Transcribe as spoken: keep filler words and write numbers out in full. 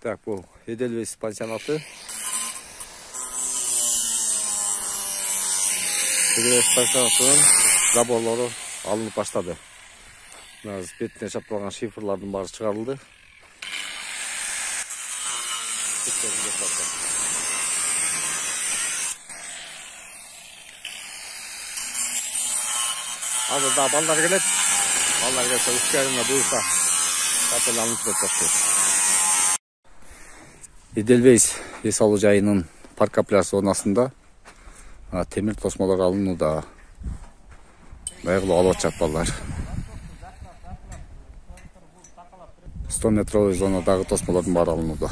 Так, бул Эдельвейс пансионаты. Эдельвейс пансионатынын заборлору алынып баштады. Мына бетине чапталган шифрлардын баары чыгарылды. Азыр да балдар келет. Балдар келсе үч айына буюрса капел алынып кетет. Эдельвейс эс алуу жайынын парка пляж зонасында темир тосмолор алынууда. Байгылуу алып атышат балдар. сто метровый зонадагы тосмолордун баары алынууда.